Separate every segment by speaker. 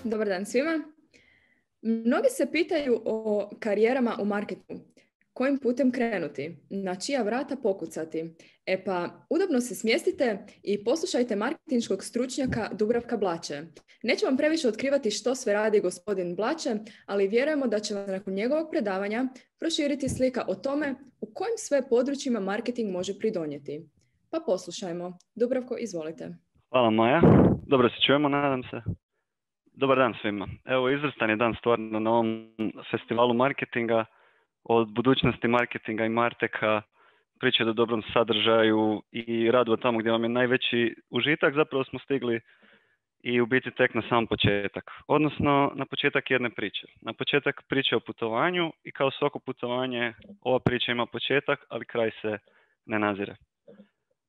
Speaker 1: Dobar dan svima. Mnogi se pitaju o karijerama u marketingu. Kojim putem krenuti? Na čija vrata pokucati? E pa, udobno se smjestite i poslušajte marketinškog stručnjaka Dubravka Blače. Neću vam previše otkrivati što sve radi gospodin Blače, ali vjerujemo da će vam nakon njegovog predavanja proširiti slika o tome u kojim sve područjima marketing može pridonijeti. Pa poslušajmo. Dubravko, izvolite.
Speaker 2: Hvala Maja. Dobro se čujemo, nadam se. Dobar dan svima. Evo, izvrstan je dan stvarno na ovom festivalu marketinga. Od budućnosti marketinga i marteka, priče o dobrom sadržaju i radu tamo gdje vam je najveći užitak, zapravo smo stigli i u biti tek na sam početak. Odnosno na početak jedne priče. Na početak priče o putovanju i kao svako putovanje ova priča ima početak, ali kraj se ne nazire.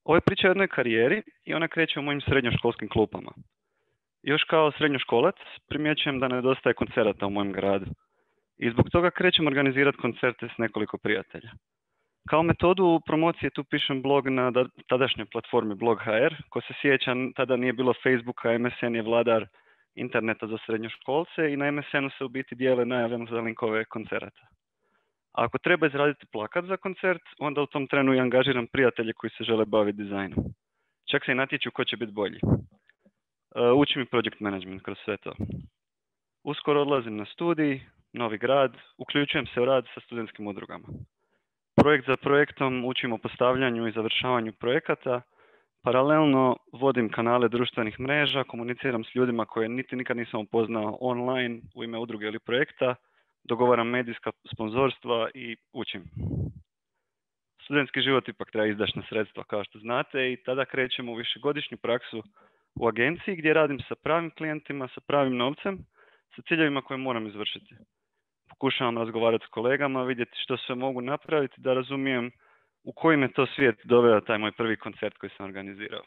Speaker 2: Ovo je priča o jednoj karijeri i ona kreće u mojim srednjoškolskim klupama. Još kao srednjoškolac primjećujem da nedostaje koncerata u mojem gradu. I zbog toga krećem organizirati koncerte s nekoliko prijatelja. Kao metodu promocije tu pišem blog na tadašnjoj platformi Blog.hr. Ko se sjeća, tada nije bilo Facebooka, MSN je vladar interneta za srednjoškolce i na MSN-u se u biti dijele najave za linkove koncerata. A ako treba izraditi plakat za koncert, onda u tom trenu i angažiram prijatelje koji se žele baviti dizajnom. Čak se i natječu ko će biti bolji. Učim i project management kroz sve to. Uskoro odlazim na studij, novi grad, uključujem se u rad sa studentskim udrugama. Projekt za projektom učim o postavljanju i završavanju projekata, paralelno vodim kanale društvenih mreža, komuniciram s ljudima koje nikad nisam upoznao online u ime udruge ili projekta, dogovaram medijska sponzorstva i učim. Studentski život ipak treba izdašna sredstva, kao što znate, i tada krećemo u višegodišnju praksu u agenciji gdje radim sa pravim klijentima, sa pravim novcem, sa ciljevima koje moram izvršiti. Pokušavam razgovarati s kolegama, vidjeti što sve mogu napraviti, da razumijem u koji me to svijet doveo taj moj prvi koncert koji sam organizirao.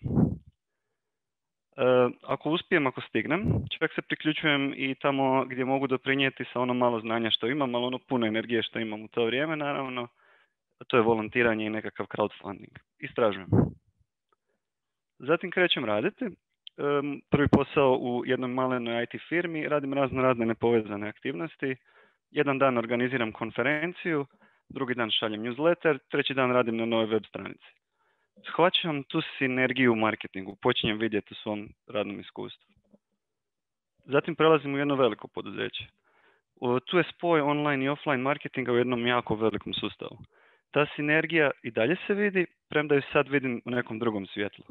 Speaker 2: Ako uspijem, ako stignem, čak se priključujem i tamo gdje mogu doprinijeti sa ono malo znanja što imam, ali ono puno energije što imam u to vrijeme, naravno, to je volontiranje i nekakav crowdfunding. Istražujem. Zatim krećem raditi. Prvi posao u jednoj malenoj IT firmi, radim razne nepovezane aktivnosti. Jedan dan organiziram konferenciju, drugi dan šaljem newsletter, treći dan radim na novoj web stranici. Shvaćam tu sinergiju u marketingu, počinjem vidjeti u svom radnom iskustvu. Zatim prelazim u jedno veliko poduzeće. Tu je spoj online i offline marketinga u jednom jako velikom sustavu. Ta sinergija i dalje se vidi, premda ju sad vidim u nekom drugom svjetlu.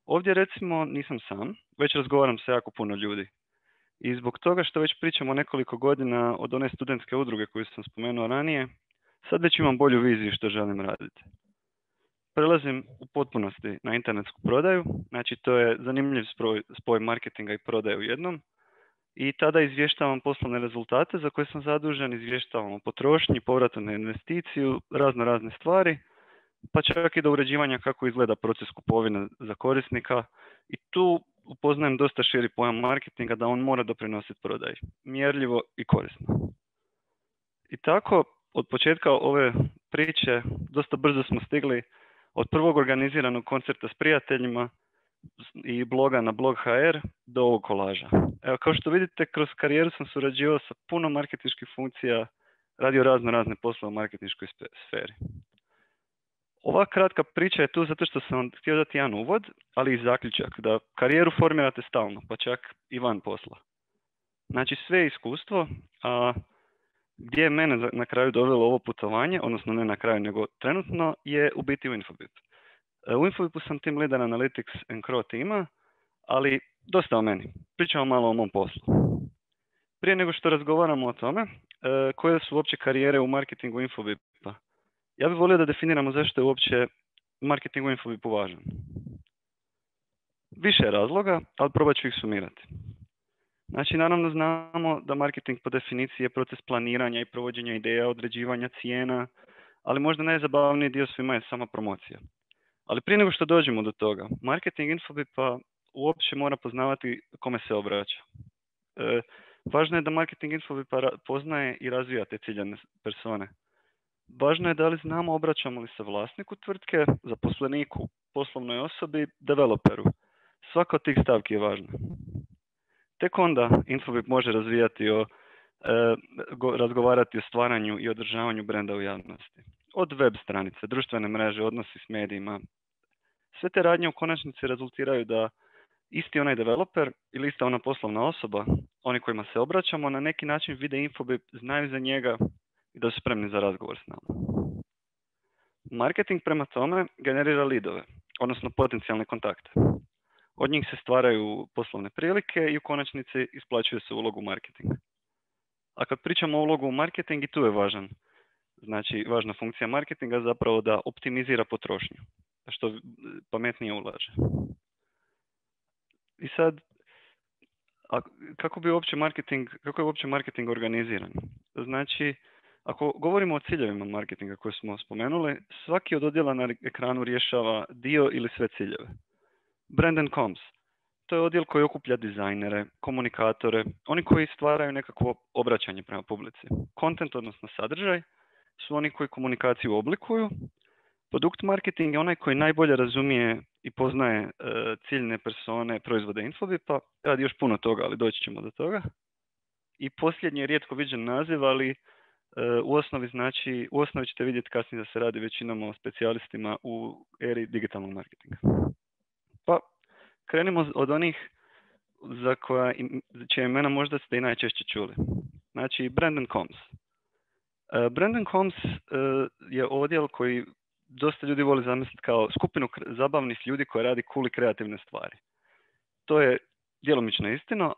Speaker 2: Ovdje recimo nisam sam, već razgovaram sa jako puno ljudi. I zbog toga što već pričamo nekoliko godina od one studentske udruge koju sam spomenuo ranije, sad već imam bolju viziju što želim raditi. Prelazim u potpunosti na internetsku prodaju, znači to je zanimljiv spoj marketinga i prodaje u jednom. I tada izvještavam poslovne rezultate za koje sam zadužen, izvještavam o potrošnji, povratu na investiciju, razne stvari, pa čak i do uređivanja kako izgleda proces kupovine za korisnika. I tu upoznajem dosta širi pojam marketinga, da on mora doprinositi prodaji, mjerljivo i korisno. I tako, od početka ove priče, dosta brzo smo stigli od prvog organiziranog koncerta s prijateljima i bloga na Blog.hr do ovog kolaža. Evo, kao što vidite, kroz karijeru sam surađivao sa puno marketinških funkcija, radio razne poslove u marketinškoj sferi. Ova kratka priča je tu zato što sam vam htio dati jedan uvod, ali i zaključak, da karijeru formirate stalno, pa čak i van posla. Znači sve iskustvo, a gdje je mene na kraju dovelo ovo putovanje, odnosno ne na kraju nego trenutno, je u biti u Infobip. U Infobipu sam team leader Analytics and Crow tima, ali dosta o meni. Pričamo malo o mom poslu. Prije nego što razgovaramo o tome, koje su uopće karijere u marketingu Infobipa, ja bih volio da definiramo zašto je uopće marketing u Infobipu važan. Više je razloga, ali probat ću ih sumirati. Znači, naravno znamo da marketing po definiciji je proces planiranja i provođenja ideja, određivanja cijena, ali možda najzabavniji dio svima je sama promocija. Ali prije nego što dođemo do toga, marketing Infobipa uopće mora poznavati kome se obraća. Važno je da marketing Infobipa poznaje i razvija te ciljane persone. Važno je da li znamo obraćamo li se vlasniku tvrtke, zaposleniku, poslovnoj osobi, developeru. Svaka od tih stavki je važna. Tek onda Infobip može razvijati razgovarati o stvaranju i održavanju brenda u javnosti. Od web stranice, društvene mreže, odnosi s medijima. Sve te radnje u konačnici rezultiraju da isti onaj developer ili ista ona poslovna osoba, oni kojima se obraćamo, na neki način vide Infobip, znaju za njega i da su spremni za razgovor s nama. Marketing prema tome generira leadove, odnosno potencijalne kontakte. Od njih se stvaraju poslovne prilike i u konačnici isplaćuje se ulogu marketinga. A kad pričamo o ulogu u marketing, i tu je važna funkcija marketinga zapravo da optimizira potrošnju, da što pametnije ulaže. I sad, kako je uopće marketing organiziran? Znači, ako govorimo o ciljevima marketinga koje smo spomenuli, svaki od odjela na ekranu rješava dio ili sve ciljeve. Brand and Comms. To je odjel koji okuplja dizajnere, komunikatore, oni koji stvaraju nekakvo obraćanje prema publici. Content, odnosno sadržaj, su oni koji komunikaciju oblikuju. Produkt marketing je onaj koji najbolje razumije i poznaje ciljne persone, proizvode Infobipa. Radi još puno toga, ali doći ćemo do toga. I posljednji je rijetko viđen naziv, ali u osnovi ćete vidjeti kasnije da se radi većinom o specijalistima u eri digitalnog marketinga. Pa krenimo od onih za čija imena možda ste i najčešće čuli. Znači, Brand and Comms. Brand and Comms je odjel koji dosta ljudi voli zamisliti kao skupinu zabavnih ljudi koji radi cool i kreativne stvari. To je djelomično istina,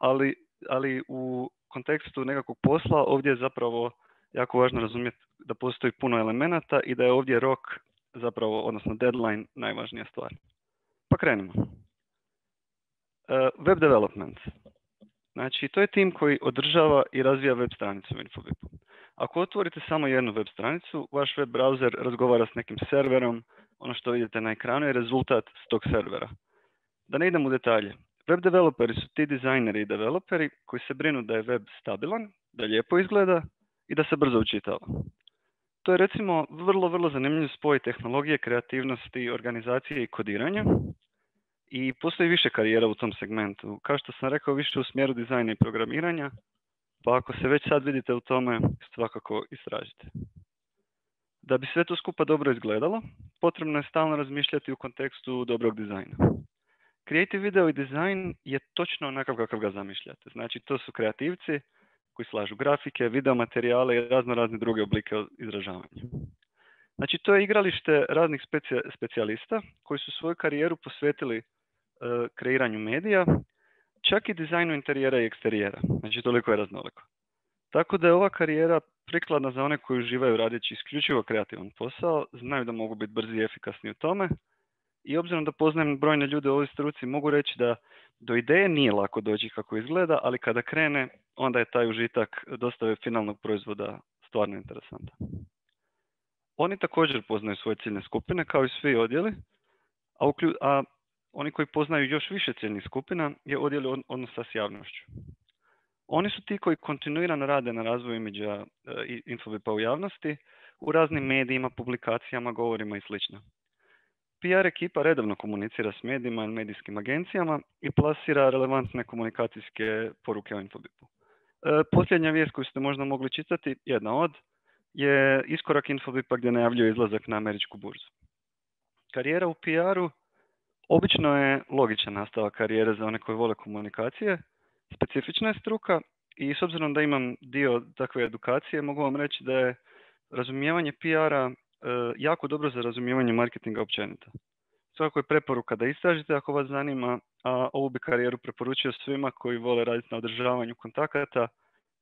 Speaker 2: ali u kontekstu nekakvog posla ovdje je zapravo jako važno razumjeti da postoji puno elemenata i da je ovdje rok zapravo, odnosno deadline, najvažnija stvar. Pa krenimo. Web development. Znači, to je tim koji održava i razvija web stranicu u Infobipu. Ako otvorite samo jednu web stranicu, vaš web browser razgovara s nekim serverom, ono što vidite na ekranu je rezultat s tog servera. Da ne idem u detalje. Web developeri su ti dizajneri i developeri koji se brinu da je web stabilan, da lijepo izgleda i da se brzo učitava. To je recimo vrlo zanimljiv spoj tehnologije, kreativnosti, organizacije i kodiranja. I postoji više karijera u tom segmentu. Kao što sam rekao, više u smjeru dizajna i programiranja, pa ako se već sad vidite u tome, svakako istražite. Da bi sve to skupa dobro izgledalo, potrebno je stalno razmišljati u kontekstu dobrog dizajna. Creative video i dizajn je točno onakav kakav ga zamišljate. Znači, to su kreativci koji slažu grafike, video materijale i razne druge oblike izražavanja. Znači, to je igralište raznih specijalista koji su svoju karijeru posvetili kreiranju medija, čak i dizajnu interijera i eksterijera. Znači, toliko je raznoliko. Tako da je ova karijera prikladna za one koji uživaju radeći isključivo kreativan posao, znaju da mogu biti brzi i efikasni u tome. I obzirom da poznajem brojne ljude u ovoj struci, mogu reći da do ideje nije lako doći kako izgleda, ali kada krene, onda je taj užitak dostave finalnog proizvoda stvarno interesantan. Oni također poznaju svoje ciljne skupine, kao i svi odjeli, a oni koji poznaju još više ciljnih skupina je odjel odnosa s javnošću. Oni su ti koji kontinuirano rade na razvoju imidža i Infobipa u javnosti, u raznim medijima, publikacijama, govorima i sl. PR ekipa redovno komunicira s medijima i medijskim agencijama i plasira relevantne komunikacijske poruke o Infobipu. Posljednja vijest koju ste možda mogli čitati, jedna od, je iskorak Infobipa gdje najavljuje izlazak na američku burzu. Karijera u PR-u obično je logičan nastavak karijere za one koji vole komunikacije, specifična je struka i s obzirom da imam dio takve edukacije, mogu vam reći da je razumijevanje PR-a jako dobro za razumijevanje marketinga općenito. Svakako je preporuka da istražite ako vas zanima, a ovu bi karijeru preporučio svima koji vole raditi na održavanju kontakata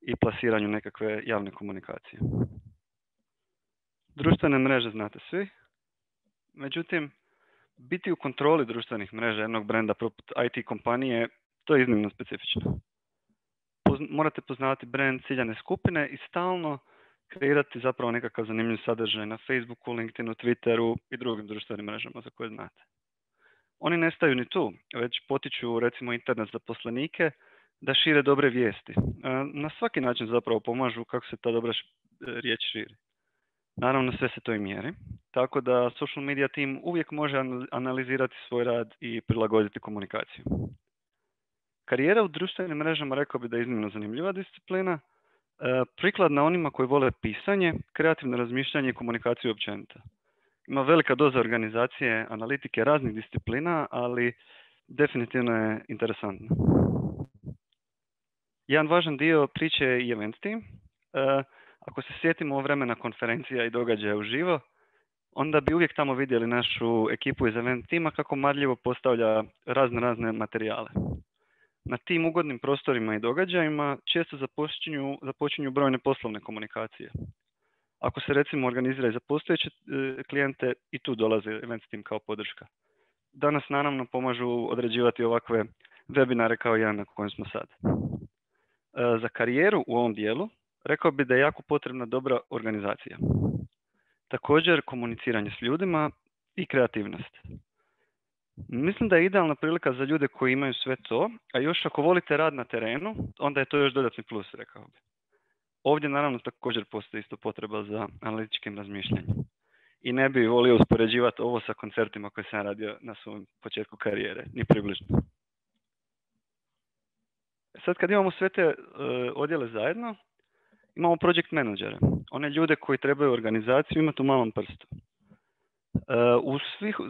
Speaker 2: i plasiranju nekakve javne komunikacije. Društvene mreže znate svi, međutim, biti u kontroli društvenih mreža jednog brenda poput IT kompanije, to je iznimno specifično. Morate poznavati brand ciljane skupine i stalno kreirati zapravo nekakav zanimljiv sadržaj na Facebooku, LinkedInu, Twitteru i drugim društvenim mrežama za koje znate. Oni ne staju ni tu, već potiču recimo internet zaposlenike da šire dobre vijesti. Na svaki način zapravo pomažu kako se ta dobra riječ širi. Naravno, sve se to i mjeri, tako da social media team uvijek može analizirati svoj rad i prilagoditi komunikaciju. Karijera u društvenim mrežama rekao bi da je iznimno zanimljiva disciplina, prikladna onima koji vole pisanje, kreativno razmišljanje i komunikaciju općenito. Ima velika doza organizacije, analitike raznih disciplina, ali definitivno je interesantno. Jedan važan dio priče je i event team. Ako se sjetimo vremena konferencija i događaja uživo, onda bi uvijek tamo vidjeli našu ekipu iz event tima kako marljivo postavlja razne materijale. Na tim ugodnim prostorima i događajima često započinju brojne poslovne komunikacije. Ako se recimo organizira i za postojeće klijente, i tu dolazi event team kao podrška. Danas naravno pomažu određivati ovakve webinare kao jedan na kojem smo sad. Za karijeru u ovom dijelu rekao bi da je jako potrebna dobra organizacija. Također komuniciranje s ljudima i kreativnost. Mislim da je idealna prilika za ljude koji imaju sve to, a još ako volite rad na terenu, onda je to još dodatni plus, rekao bi. Ovdje naravno također postoji isto potreba za analitičkim razmišljanjem. I ne bih volio uspoređivati ovo sa koncertima koje sam radio na svom početku karijere, ni približno. Sad kad imamo sve te odjele zajedno, imamo project menadžere. One ljude koji trebaju organizaciju imati u malom prstu. U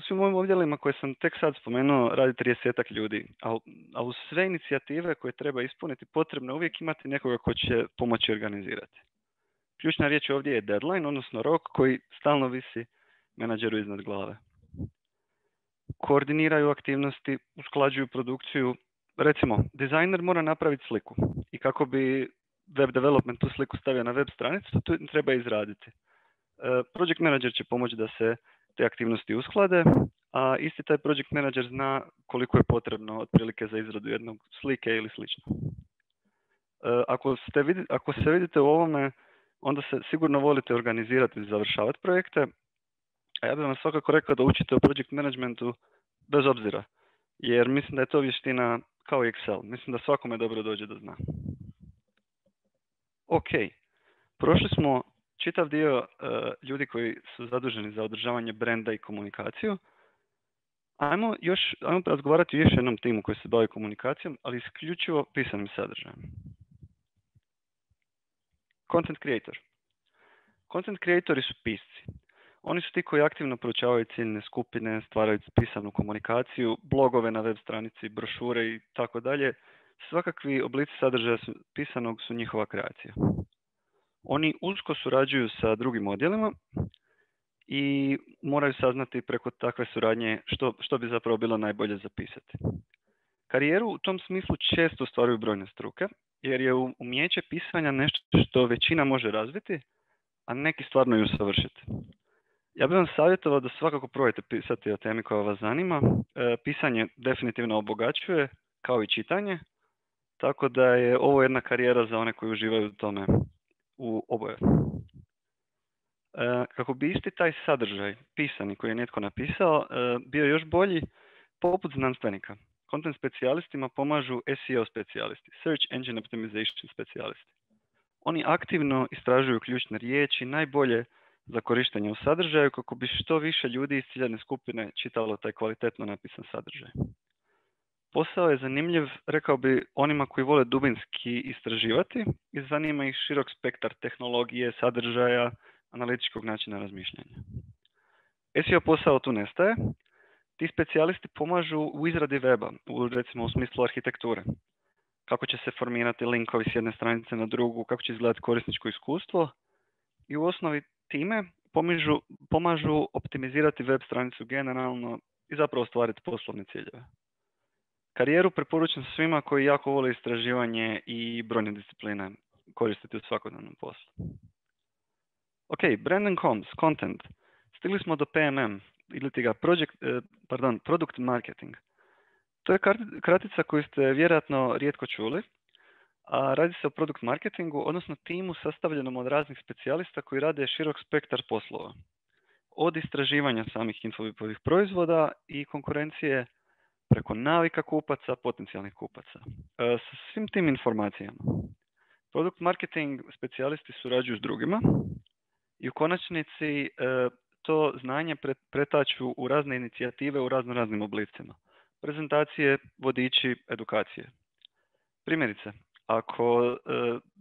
Speaker 2: svim ovim odjelima koje sam tek sad spomenuo radi 30 ljudi, a uz sve inicijative koje treba ispuniti potrebno uvijek imati nekoga ko će pomoći organizirati. Ključna riječ ovdje je deadline, odnosno rok koji stalno visi menadžeru iznad glave. Koordiniraju aktivnosti, usklađuju produkciju. Recimo, dizajner mora napraviti sliku i kako bi web development tu sliku stavio na web stranicu, to treba izraditi. Project manager će pomoći da se te aktivnosti usklade, a isti taj project manager zna koliko je potrebno otprilike za izradu jednog slike ili slično. Ako se vidite u ovome, onda se sigurno volite organizirati i završavati projekte, a ja bih vam svakako rekao da učite o project managementu bez obzira, jer mislim da je to vještina kao i Excel. Mislim da svakome dobro dođe da zna. Ok, prošli smo čitav dio ljudi koji su zaduženi za održavanje brenda i komunikaciju. Ajmo razgovarati o još jednom timu koji se bavi komunikacijom, ali isključivo pisanim sadržajem. Content creator. Content creatori su pisci. Oni su ti koji aktivno proučavaju ciljne skupine, stvaraju pisanu komunikaciju, blogove na web stranici, brošure i tako dalje. Svakakvi oblici sadržaja pisanog su njihova kreacija. Oni usko surađuju sa drugim odjelima i moraju saznati preko takve suradnje što bi zapravo bilo najbolje zapisati. Karijeru u tom smislu često ostvaruju brojne struke, jer je umijeće pisanja nešto što većina može razviti, a neki stvarno i usavršiti. Ja bih vam savjetovao da svakako probajte pisati o temi koja vas zanima. Pisanje definitivno obogaćuje, kao i čitanje, tako da je ovo jedna karijera za one koji uživaju u tome u oboje. Kako bi isti taj sadržaj pisani koji je netko napisao bio još bolji, poput znanstvenika, content specijalistima pomažu SEO specijalisti, Search Engine Optimization specijalisti. Oni aktivno istražuju ključne riječi, najbolje za korištenje u sadržaju kako bi što više ljudi iz ciljane skupine čitalo taj kvalitetno napisan sadržaj. Posao je zanimljiv, rekao bi, onima koji vole dubinski istraživati i zanima ih širok spektar tehnologije, sadržaja, analitičkog načina razmišljanja. SEO posao tu nestaje. Ti specijalisti pomažu u izradi weba, recimo u smislu arhitekture. Kako će se formirati linkovi s jedne stranice na drugu, kako će izgledati korisničko iskustvo i u osnovi time pomažu optimizirati web stranicu generalno i zapravo ostvariti poslovne ciljeve. Karijeru preporučam svima koji jako vole istraživanje i brojne discipline koristiti u svakodnevnom poslu. Ok, brand and comms, content. Stigli smo do PMM, ili ti ga product marketing. To je kratica koju ste vjerojatno rijetko čuli, a radi se o product marketingu, odnosno timu sastavljenom od raznih specijalista koji rade širok spektar poslova. Od istraživanja samih infobipovih proizvoda i konkurencije preko navika kupaca, potencijalnih kupaca. Sa svim tim informacijama, product marketing specijalisti surađuju s drugima i u konačnici to znanje pretaču u razne inicijative u raznim oblicima. Prezentacije, vodiči, edukacije. Primjerice, ako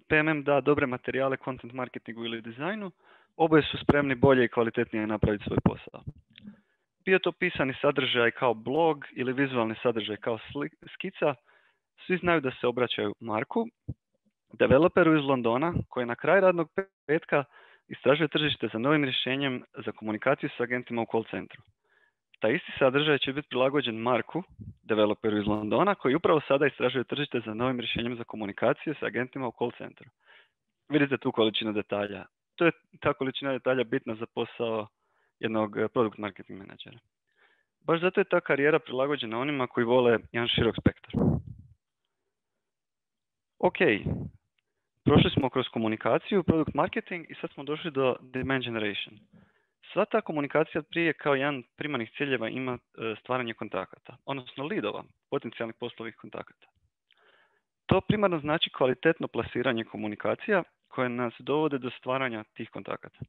Speaker 2: PMM da dobre materijale content marketingu ili dizajnu, oboje su spremni bolje i kvalitetnije napraviti svoj posao. Bio to pisani sadržaj kao blog ili vizualni sadržaj kao skica, svi znaju da se obraćaju Marku, developeru iz Londona, koji na kraj radnog petka istražuje tržište za novim rješenjem za komunikaciju s agentima u call centru. Taj isti sadržaj će biti prilagođen Marku, developeru iz Londona, koji upravo sada istražuje tržište za novim rješenjem za komunikaciju s agentima u call centru. Vidite tu količinu detalja. To je ta količina detalja bitna za posao jednog product marketing menadžera. Baš zato je ta karijera prilagođena onima koji vole jedan širok spektar. Ok, prošli smo kroz komunikaciju, product marketing i sad smo došli do demand generation. Sva ta komunikacija prije kao jedan primarnih ciljeva ima stvaranje kontakata, odnosno leadova, potencijalnih poslovnih kontakata. To primarno znači kvalitetno plasiranje komunikacija koje nas dovode do stvaranja tih kontakata.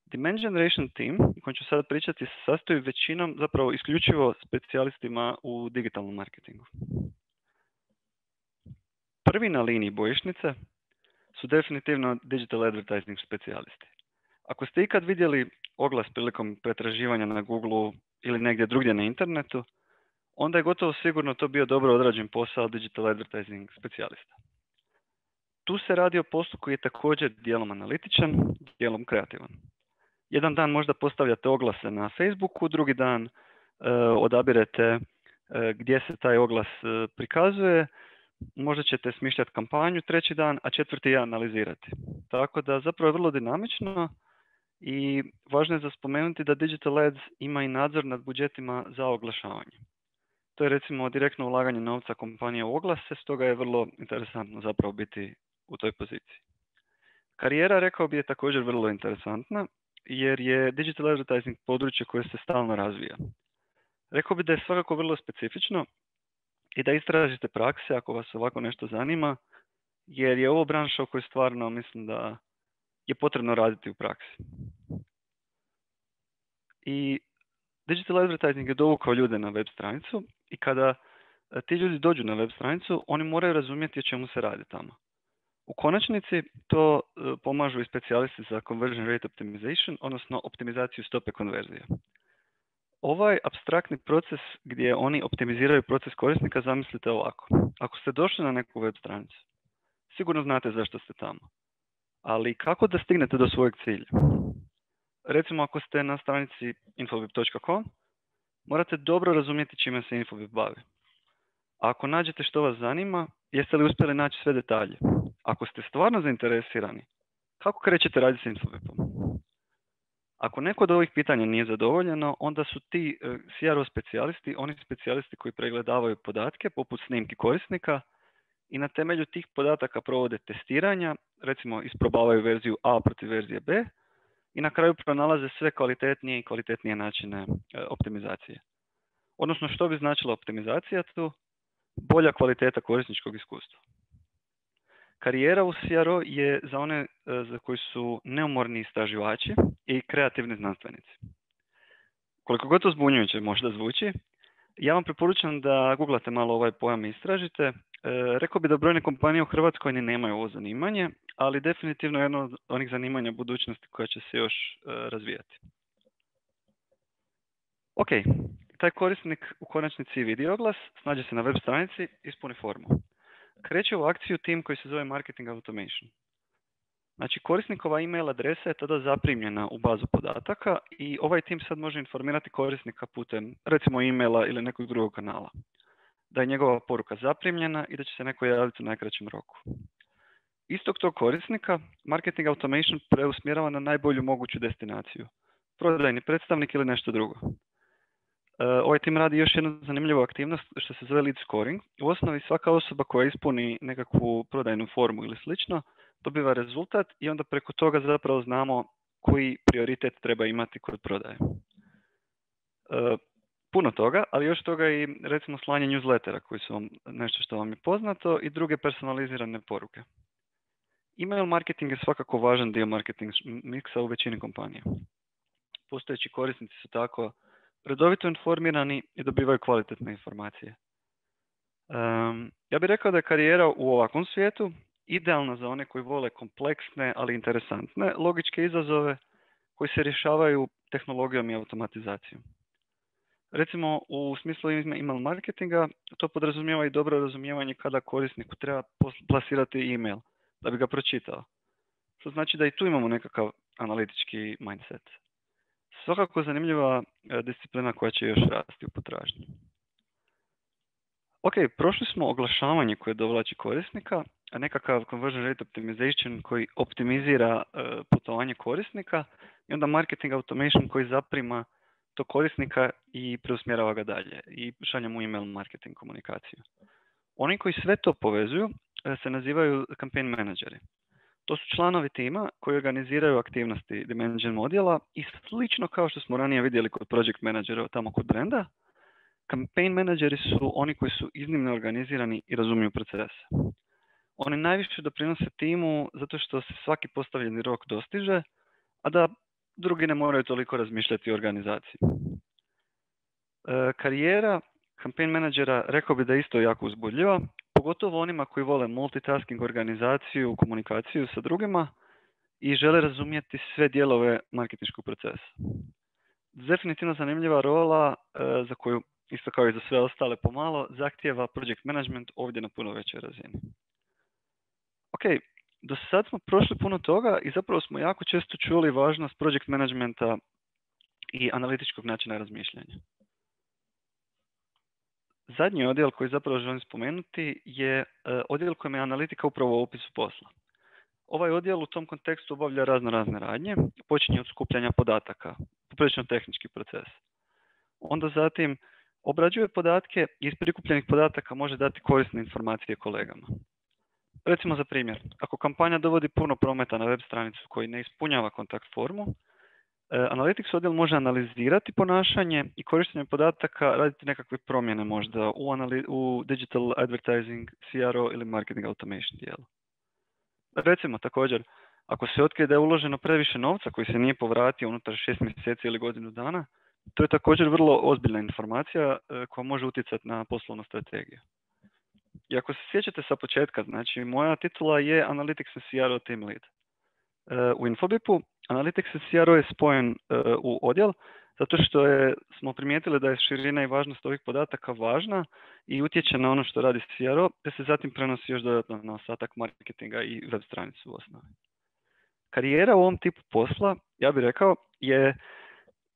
Speaker 2: Demand generation team, o kojem ću sada pričati, se sastoji većinom zapravo isključivo specijalistima u digitalnom marketingu. Prvi na liniji bojišnice su definitivno digital advertising specijalisti. Ako ste ikad vidjeli oglas prilikom pretraživanja na Google ili negdje drugdje na internetu, onda je gotovo sigurno to bio dobro odrađen posao digital advertising specijalista. Tu se radi o poslu koji je također dijelom analitičan, dijelom kreativan. Jedan dan možda postavljate oglase na Facebooku, drugi dan odabirete gdje se taj oglas prikazuje, možda ćete smišljati kampanju treći dan, a četvrti je analizirati. Tako da zapravo je vrlo dinamično i važno je za spomenuti da Digital Ads ima i nadzor nad budžetima za oglašavanje. To je recimo direktno ulaganje novca kompanije u oglase, stoga je vrlo interesantno zapravo biti u toj poziciji. Karijera, rekao bi, je također vrlo interesantna jer je digital advertising područje koje se stalno razvija. Rekao bi da je svakako vrlo specifično i da istražite prakse ako vas ovako nešto zanima, jer je ovo branša u kojoj stvarno mislim da je potrebno raditi u praksi. I digital advertising je dovukao ljude na web stranicu i kada ti ljudi dođu na web stranicu, oni moraju razumjeti o čemu se radi tamo. U konačnici to pomažu i specijalisti za conversion rate optimization, odnosno optimizaciju stope konverzije. Ovaj apstraktni proces gdje oni optimiziraju proces korisnika zamislite ovako. Ako ste došli na neku web stranicu, sigurno znate zašto ste tamo. Ali kako da stignete do svojeg cilja? Recimo ako ste na stranici infobip.com, morate dobro razumjeti čime se Infobip bavi. A ako nađete što vas zanima, jeste li uspjeli naći sve detalje? Ako ste stvarno zainteresirani, kako krećete raditi s Infobipom? Ako neko od ovih pitanja nije zadovoljeno, onda su ti CRO specijalisti, oni specijalisti koji pregledavaju podatke poput snimki korisnika i na temelju tih podataka provode testiranja, recimo isprobavaju verziju A protiv verzije B i na kraju pronalaze sve kvalitetnije i kvalitetnije načine optimizacije. Odnosno što bi značila optimizacija tu? Bolja kvaliteta korisničkog iskustva. Karijera u CRO je za one za koji su neumorni istraživači i kreativni znanstvenici. Koliko god to zbunjujuće možda zvuči, ja vam preporučam da googlate malo ovaj pojam i istražite. Rekao bi da brojne kompanije u Hrvatskoj ni nemaju ovo zanimanje, ali definitivno je jedno od onih zanimanja budućnosti koja će se još razvijati. Ok, taj korisnik u konačnici vidi oglas, snađe se na web stranici, ispuni formu. Kreće u akciju tim koji se zove Marketing Automation. Znači, korisnikova email adresa je tada zaprimljena u bazu podataka i ovaj tim sad može informirati korisnika putem, recimo, emaila ili nekog drugog kanala. Da je njegova poruka zaprimljena i da će se neko javiti u najkraćem roku. Istog tog korisnika Marketing Automation preusmjerava na najbolju moguću destinaciju. Prodajni predstavnik ili nešto drugo. Ovaj tim radi još jednu zanimljivu aktivnost što se zove lead scoring. U osnovi svaka osoba koja ispuni nekakvu prodajnu formu ili slično dobiva rezultat i onda preko toga zapravo znamo koji prioritet treba imati kod prodaje. Puno toga, ali još toga i recimo slanje newslettera koji su vam nešto što vam je poznato i druge personalizirane poruke. Email marketing je svakako važan dio marketing miksa u većini kompanija. Postojeći korisnici su tako redovito informirani i dobivaju kvalitetne informacije. Ja bih rekao da je karijera u ovakvom svijetu idealna za one koji vole kompleksne, ali interesantne logičke izazove koji se rješavaju tehnologijom i automatizacijom. Recimo, u smislu email marketinga, to podrazumijeva i dobro razumijevanje kada korisniku treba plasirati email da bi ga pročitao. Što znači da i tu imamo nekakav analitički mindset. Svakako zanimljiva disciplina koja će još rasti u potražnji. Ok, prošli smo oglašavanje koje dovlači korisnika, a nekakav conversion rate optimization koji optimizira putovanje korisnika i onda marketing automation koji zaprima to korisnika i preusmjerava ga dalje i šalje mu email marketing komunikaciju. Oni koji sve to povezuju se nazivaju campaign menadžeri. To su članovi tima koji organiziraju aktivnosti Dimension modela i slično kao što smo ranije vidjeli kod project menadžera tamo kod brenda, campaign menadžeri su oni koji su iznimno organizirani i razumiju procese. Oni najviše doprinose timu zato što se svaki postavljeni rok dostiže, a da drugi ne moraju toliko razmišljati o organizaciji. Karijera campaign menadžera rekao bi da je isto jako uzbudljiva, pogotovo onima koji vole multitasking, organizaciju, komunikaciju sa drugima i žele razumjeti sve dijelove marketinškog procesa. Definitivno zanimljiva rola za koju, isto kao i za sve ostale pomalo, zahtijeva project management ovdje na puno većoj razini. Ok, do sad smo prošli puno toga i zapravo smo jako često čuli važnost project managementa i analitičkog načina razmišljanja. Zadnji odjel koji zapravo želim spomenuti je odjel kojem je analitika upravo u opisu posla. Ovaj odjel u tom kontekstu obavlja razne radnje, počinje od skupljanja podataka, poprilično tehnički proces. Onda zatim obrađuje podatke i iz prikupljenih podataka može dati korisne informacije kolegama. Recimo za primjer, ako kampanja dovodi puno prometa na web stranicu koji ne ispunjava kontakt formu, Analytics odjel može analizirati ponašanje i korištenjem podataka raditi nekakve promjene možda u digital advertising, CRO ili marketing automation dijelu. Recimo također, ako se otkrije da je uloženo previše novca koji se nije povratio unutar 6 mjeseci ili godinu dana, to je također vrlo ozbiljna informacija koja može utjecati na poslovnu strategiju. I ako se sjećate sa početka, znači moja titula je Analytics and CRO Team Lead. U Infobipu Analytics and CRO je spojen u odjel zato što smo primijetili da je širina i važnost ovih podataka važna i utječe na ono što radi CRO, te se zatim prenosi još dodatno na ostatak marketinga i web stranicu u osnovi. Karijera u ovom tipu posla, ja bih rekao, je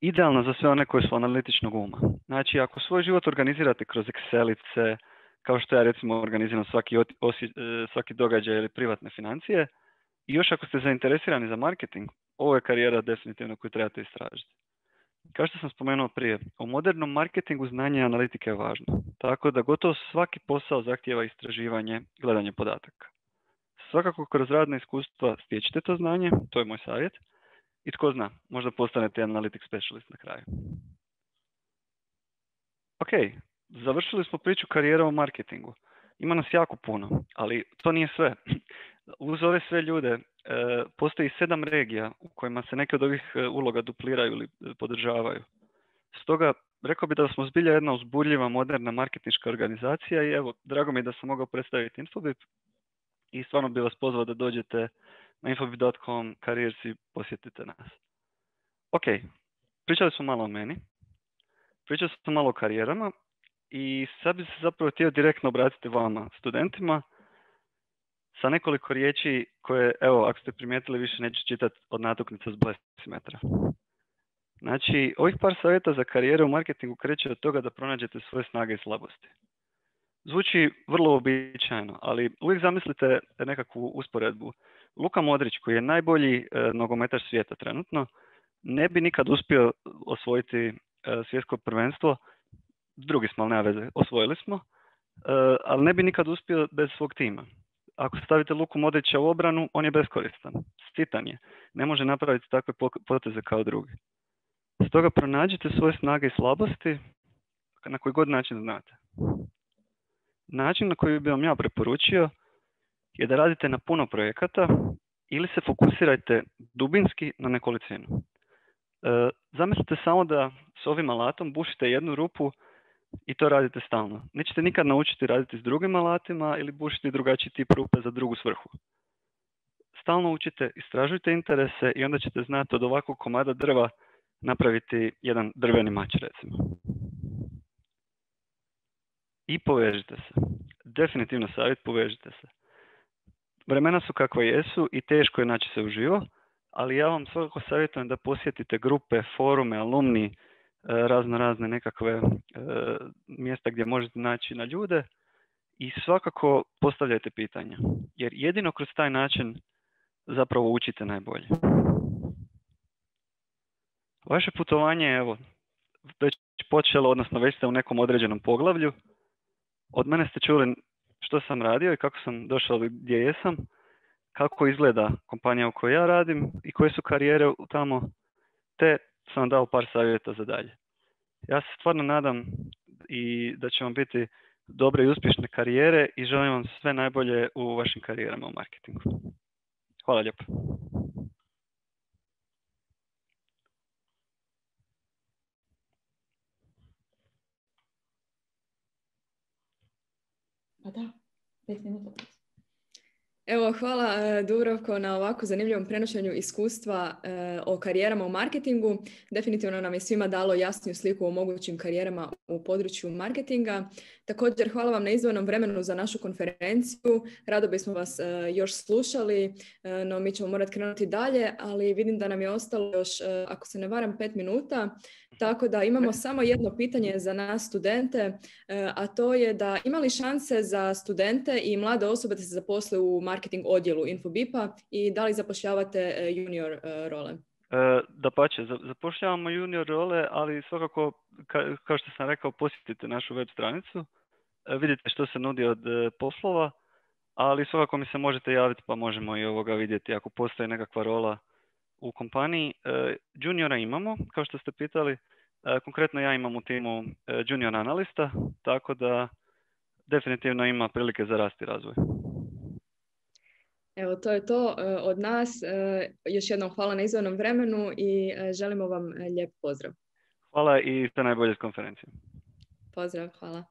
Speaker 2: idealna za sve one koji su analitičnog uma. Znači, ako svoj život organizirate kroz Excelice, kao što ja recimo organiziram svaki događaj ili privatne financije, i još ako ste zainteresirani za marketing, ovo je karijera definitivno koju trebate istražiti. Kao što sam spomenuo prije, u modernom marketingu znanje analitike je važno, tako da gotovo svaki posao zahtijeva istraživanje, gledanje podataka. Svakako kroz radna iskustva stječite to znanje, to je moj savjet, i tko zna, možda postanete analytics specialist na kraju. Ok, završili smo priču karijera u marketingu. Ima nas jako puno, ali to nije sve. Uz ove sve ljude postoji 7 regija u kojima se neke od ovih uloga dupliraju ili podržavaju. Stoga, rekao bih da smo zbilja jedna uzbudljiva, moderna marketinška organizacija i evo, drago mi je da sam mogao predstaviti Infobip i stvarno bih vas pozvao da dođete na infobip.com, careers i posjetite nas. Ok, pričali smo malo o meni, pričali smo malo o karijerama i sad bih se zapravo htio direktno obratiti vama, studentima, sa nekoliko riječi koje, evo, ako ste primijetili, više neću čitati od natuknica s blesimetra. Znači, ovih par savjeta za karijeru u marketingu kreće od toga da pronađete svoje snage i slabosti. Zvuči vrlo uobičajeno, ali uvijek zamislite nekakvu usporedbu. Luka Modrić, koji je najbolji nogometaš svijeta trenutno, ne bi nikad uspio osvojiti svjetsko prvenstvo. Drugi smo, ali nema veze, osvojili smo, ali ne bi nikad uspio bez svog tima. Ako stavite Luku Modrića u obranu, on je beskoristan, sitan je, ne može napraviti takve poteze kao drugi. Stoga pronađite svoje snage i slabosti na koji god način znate. Način na koji bi vam ja preporučio je da radite na puno projekata ili se fokusirajte dubinski na nekolicinu. Zamislite samo da s ovim alatom bušite jednu rupu I to radite stalno. Nećete nikad naučiti raditi s drugim alatima ili bušiti drugačiji tip rupe za drugu svrhu. Stalno učite, istražujte interese i onda ćete znati od ovakvog komada drva napraviti jedan drveni mač, recimo. I povežite se. Definitivno savjet, povežite se. Vremena su kakva jesu i teško je naći se uživo, ali ja vam svakako savjetujem da posjetite grupe, forume, alumni, razne nekakve mjesta gdje možete naći na ljude i svakako postavljajte pitanja. Jer jedino kroz taj način zapravo učite najbolje. Vaše putovanje je već počelo, odnosno već ste u nekom određenom poglavlju. Od mene ste čuli što sam radio i kako sam došao gdje jesam, kako izgleda kompanija u kojoj ja radim i koje su karijere tamo, te sam vam dao par savjeta za dalje. Ja se stvarno nadam i da će vam biti dobre i uspješne karijere i želim vam sve najbolje u vašim karijerama u marketingu. Hvala lijepo.
Speaker 1: Pa da, 5 minuta. Evo, hvala Dubravko na ovako zanimljivom prenošenju iskustva o karijerama u marketingu. Definitivno nam je svima dalo jasniju sliku o mogućim karijerama u području marketinga. Također, hvala vam na izdvojenom vremenu za našu konferenciju. Rado bismo vas još slušali, no mi ćemo morati krenuti dalje, ali vidim da nam je ostalo još, ako se ne varam, 5 minuta. Tako da imamo samo jedno pitanje za nas studente, a to je da ima li šanse za studente i mlade osobe da se zaposle u marketing odjelu Infobipa i da li zapošljavate junior role?
Speaker 2: Dapače, zapošljavamo junior role, ali svakako, kao što sam rekao, posjetite našu web stranicu, vidite što se nudi od poslova, ali svakako mi se možete javiti pa možemo i ovoga vidjeti ako postoji nekakva rola u kompaniji. Juniora imamo, kao što ste pitali. Konkretno ja imam u timu junior analista, tako da definitivno ima prilike za rast i razvoj.
Speaker 1: Evo, to je to od nas. Još jednom hvala na izdvojenom vremenu i želimo vam lijep pozdrav.
Speaker 2: Hvala i sve najbolje s konferencijom.
Speaker 1: Pozdrav, hvala.